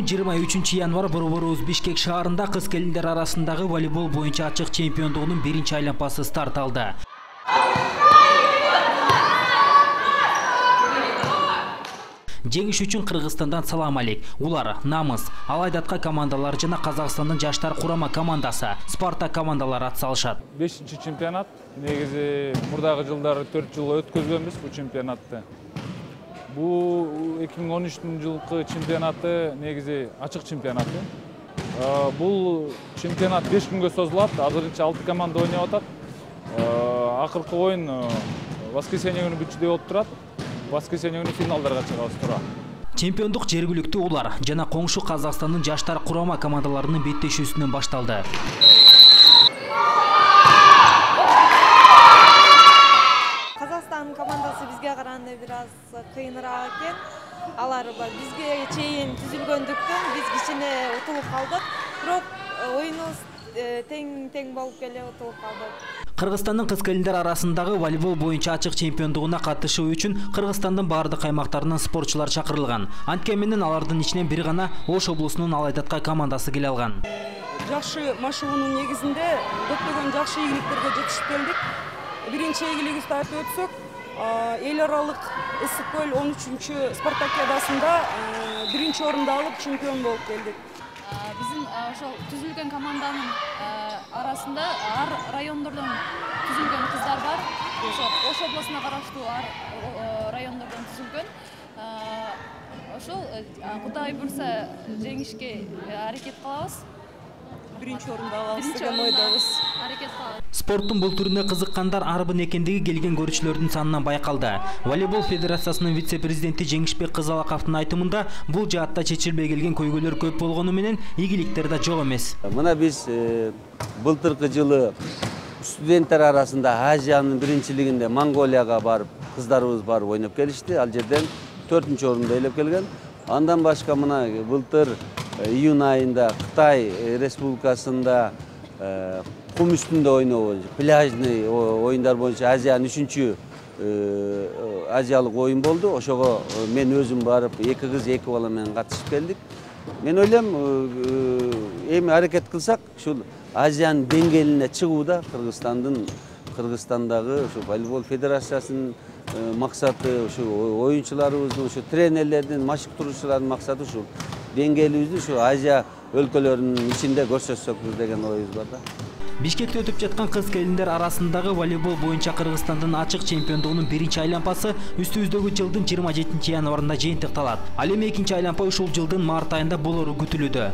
23 январ борборубуз Бишкек шаарында кыз келиндер арасындагы волейбол боюнча ачык чемпиондугунун биринчи айланпасы старт алды. Жеңиш үчүн Кыргызстандан салам алейк. Улар Намыс, Алайдатка командалары жана Казакстандын жаштар курама командасы, Спартак командалары атсалышат. 5-чи чемпионат. Негизи мурдагы жылдары 4 жыл өткөзгөнбүз бул чемпионатты. Бул 2013-жылкы чемпионаты негизи ачык чемпионаты. Бул чемпионат 5 күнгө созулат. Азырынча 6 команда ойноп атат. Акыркы оюн воскресенье күнү бүтчүдөй болуп турат. Воскресенье күнү финалдарга чыгабыз туура. Чемпиондук жергиликтүү улар жана коңшу Казакстандын жаштар курама командаларынын беттешүүсүнөн башталды. Казакстан командасы бизге караганда бир аз кыйыныраак экен. Алар бизге чейин түзүлгөндүктөн биз кичине утулуп калдык. Бирок оюнубуз тең болуп келе утулуп калдык. Кыргызстандын кыз келиндер арасындагы волейбол боюнча ачык чемпиондугуна катышуу үчүн Кыргызстандын бардык аймактарынан спортчулар чакырылган. Анткени менен алардын ичинен бир гана Ош облусунун Алайдатка командасы келе алган. Жакшы машыгуунун негизинде көптөгөн жакшы ийгиликтерге жетишип келдик. Биринчи ийгилигибизди айтып өтсөк, эл аралык ысык көл 13-чү спартакиадасында биринчи орунду алып чемпион болуп келдик. Биздин ошол түзүлгөн команданын арасында ар райондордон түзүлгөн кыздар бар. Ош облусуна караштуу райондордон түзүлгөн. Ошол Кудай буйрса жеңишке аракет кылабыз. Биринчи орунду алабыз деген ойдобуз. Аракет кылабыз. Спорттун бул түрүнө кызыккандар арбын экендиги келген көрүүчүлөрдүн санынан байкалды. Волейбол федерациясынын вице-президенти Жеңишбек Кызалаковдун айтымында бул жаатта чечилбей келген көйгөйлөр көп болгону менен ийгиликтер да жок эмес. Мына биз былтыркы жылы студенттер арасында Азиянын биринчилигинде Монголияга барып, кыздарыбыз барып ойноп келишти. Ал жерден 4-чү орунду ээлеп келген. Андан башка мына былтыр июнь айында Кытай Республикасында кум үстүндө ойноо, пляжный оюндар боюнча Азиянын 3-чү азиялык оюн болду. Ошого мен өзүм барып 2 кыз 2 бала менен катышып келдик. Мен ойлойм, эми аракет кылсак, ушул Азиянын деңгээлине чыгууда Кыргызстандагы ушу волейбол федерациясынын максаты, ушу оюнчуларыбыздын, ушу тренерлердин, машыктыруучулардын максаты ушу деңгээлибизди ушу Азия өлкөлөрүнүн ичинде көрсөтсөк деген оюбуз бар да. Бишкекте өтүп жаткан кыз келиндер арасындагы волейбол боюнча Кыргызстандын ачык чемпиондугунун биринчи айланпасы үстүбүздөгү жылдын 27 январында жыйынтыкталат. Ал эми экинчи айланпа ушул жылдын март айында болору күтүлүүдө.